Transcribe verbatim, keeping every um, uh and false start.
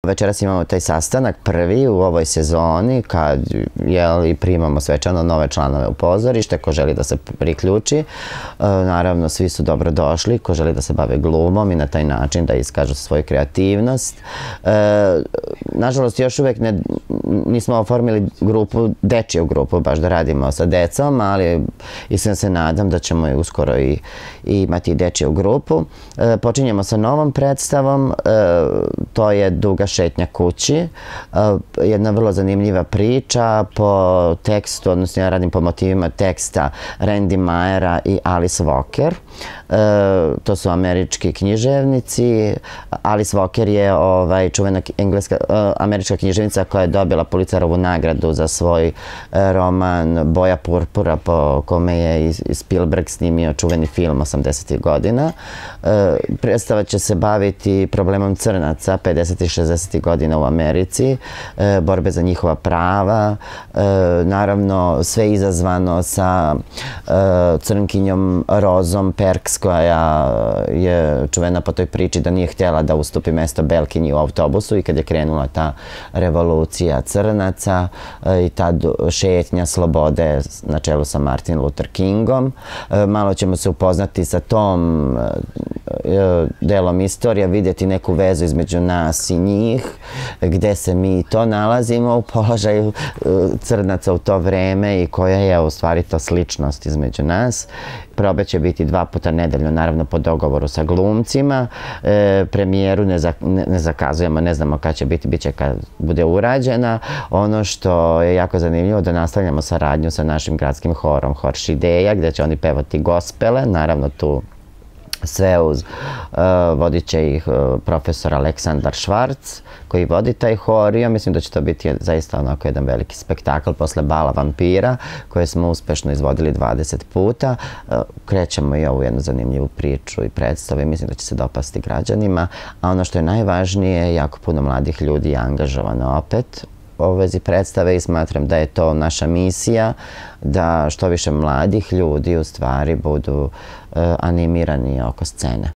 Večeras imamo taj sastanak prvi u ovoj sezoni kad primamo svečano nove članove u pozorište, ko želi da se priključi. Naravno, svi su dobro došli, ko želi da se bave glumom i na taj način da iskažu svoju kreativnost. Nažalost, još uvek nismo oformili grupu, dečiju grupu, baš da radimo sa decom, ali iskreno se nadam da ćemo i uskoro i imati dečiju grupu. Počinjemo sa novom predstavom, to je Duga šetnja kući, jedna vrlo zanimljiva priča po tekstu, odnosno ja radim po motivima teksta Randy Mayera i Alice Walker. To su američki književnici. Alice Walker je čuvena američka književnica koja je dobila Pulitzerovu nagradu za svoj roman Boja purpura, po kome je Spielberg snimio čuveni film osamdesetih godina. Predstava će se baviti problemom crnaca pedesetih i šezdesetih godina u Americi, borbe za njihova prava, naravno sve izazvano sa crnkinjom Rozom Perks, koja je čuvena po toj priči da nije htjela da ustupi mesto belkinji u autobusu, i kad je krenula ta revolucija crnaca i ta šetnja slobode na čelu sa Martin Luther Kingom. Malo ćemo se upoznati sa tom delom istorija, vidjeti neku vezu između nas i njih, gde se mi to nalazimo u položaju crnaca u to vreme i koja je u stvari ta sličnost između nas. Probe će biti dva puta nedeljno, naravno po dogovoru sa glumcima. Premijeru ne zakazujemo, ne znamo kada će biti, bit će kad bude urađena. Ono što je jako zanimljivo da nastavljamo saradnju sa našim gradskim horom, Hor Šideja, gde će oni pevati gospele, naravno tu sve uz, vodit će ih profesor Aleksandar Švarc, koji vodi taj hor, i ja mislim da će to biti zaista onako jedan veliki spektakl posle Bala vampira, koje smo uspešno izvodili dvadeset puta. Krećemo i ovu jednu zanimljivu priču i predstavu i mislim da će se dopasti građanima, a ono što je najvažnije, jako puno mladih ljudi je angažovano opet u vezi predstave i smatram da je to naša misija, da što više mladih ljudi u stvari budu animirani oko scene.